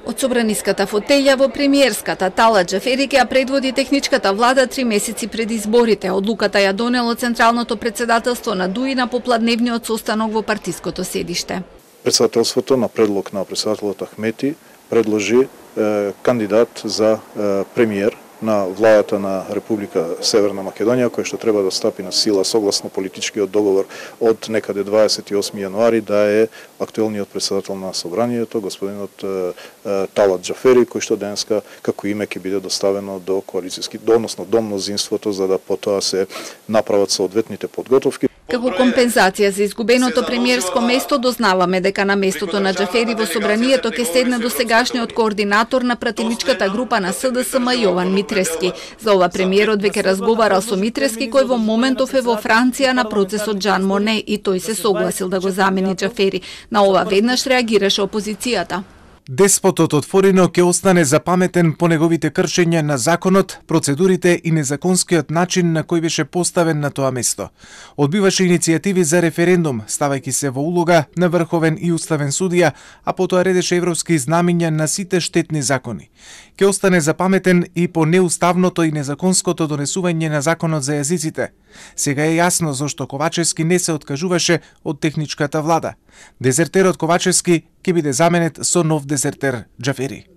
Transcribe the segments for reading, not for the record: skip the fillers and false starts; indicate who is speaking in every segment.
Speaker 1: Од собраниската фотеља во премиерската Талат Џафери ќе ја предводи техничката влада 3 месеци пред изборите. Одлуката ја донело Централното председателство на ДУИ на попладневниот состанок во партиското седиште.
Speaker 2: Председателството на предлог на председателот Ахмети предложи кандидат за премиер на владата на Република Северна Македонија, кој што треба да стапи на сила согласно политичкиот договор од некаде 28 јануари, да е актуелниот председател на собранието, господинот Талат Џафери, кој што денеска како име ќе биде доставено до односно до мнозинството, за да потоа се направат соодветните подготовки.
Speaker 1: Како компензација за изгубеното премиерско место, дознаваме дека на местото на Џафери во собранието ќе седне досегашниот координатор на пратеничката група на СДСМ Јован Митрески. За ова премиерот веќе разговарал со Митрески, кој во моментов е во Франција на процесот Жан Моне, и тој се согласил да го замени Џафери. На ова веднаш реагираше опозицијата.
Speaker 3: Деспотот отворено ќе остане запаметен по неговите кршења на законот, процедурите и незаконскиот начин на кој беше поставен на тоа место. Одбиваше иницијативи за референдум, ставајќи се во улога на врховен и уставен судија, а потоа редеше европски знамиња на сите штетни закони. Ќе остане запаметен и по неуставното и незаконското донесување на законот за јазиците. Сега е јасно зошто Ковачевски не се откажуваше од техничката влада. Дезертерот Ковачевски ќе биде заменет со нов дезертер Џафери.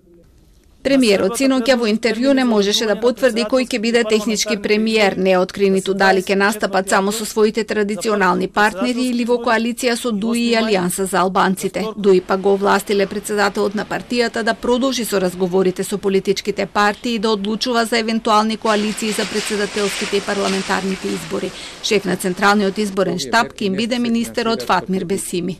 Speaker 1: Премиерот синоќа во интервју не можеше да потврди кој ќе биде технички премиер, не откри ниту дали ќе настапат само со своите традиционални партнери или во коалиција со ДУИ и Алијанса за албанците. ДУИ па го овластиле председателот на партијата да продолжи со разговорите со политичките партии и да одлучува за евентуални коалиции за председателските и парламентарните избори. Шеф на Централниот изборен штаб ќе им биде министерот Фатмир Бесими.